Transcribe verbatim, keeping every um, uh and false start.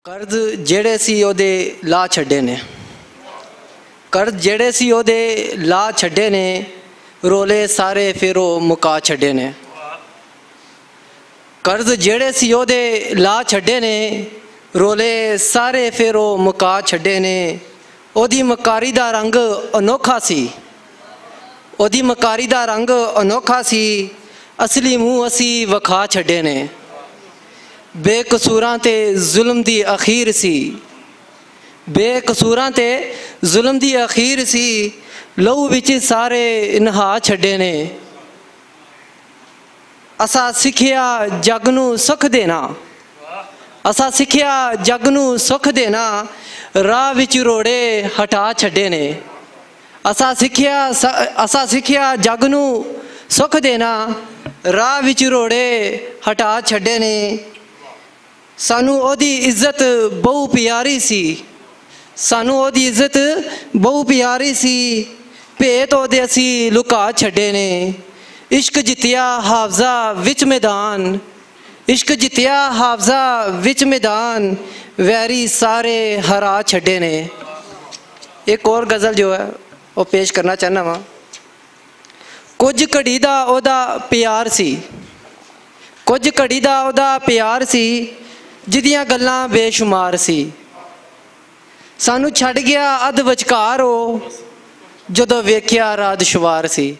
قرض جیڑے سی اوہدے لا چھڈے نے۔ قرض جیڑے سی اوہدے لا چھڈے نے۔ رولے سارے فیر او مکا چھڈے نے۔ قرض جیڑے سی اوہدے لا چھڈے نے۔ رولے سارے فیر او مکا چھڈے نے۔ اوہدی مکاری دا رنگ انوکھا سی۔ اوہدی مکاری دا رنگ انوکھا سی۔ اصلی منہ اسی وکھا چھڈے نے۔ بے قصوراں تے ظلم دی اخیر سی۔ بے قصوراں تے ظلم دی اخیر سی۔ لہو وچ سارے نہا چھڈے نے۔ اسا سکھیا جگ نوں سکھ دینا۔ اسا سکھیا جگ نوں سکھ دینا۔ راہ وچ روڑے ہٹا چھڈے نے۔ اسا سکھیا اسا سکھیا جگ نوں سکھ دینا۔ راہ وچ روڑے ہٹا چھڈے نے۔ سانوں اوہدی عزت بہو پیاری سی۔ سانوں اوہدی عزت بہو پیاری سی۔ پھیت اوہدے اسی لکا چھڈے نے۔ عشق جتیا حافظہ وچ میدان۔ عشق جتیا حافظہ وچ میدان۔ ویری سارے ہرا چھڈے نے۔ ایک اور غزل جو ہے، وہ پیش کرنا چاہنا واں۔ کچھ گھڑی دا اوہدا پیار سی۔ کچھ گھڑی دا اوہدا پیار سی۔ جدیاں گلاں بے شمار سی۔ سانوں چھڈ گیا ادھ وچکار او۔ جدوں ویکھیا رات شوار سی۔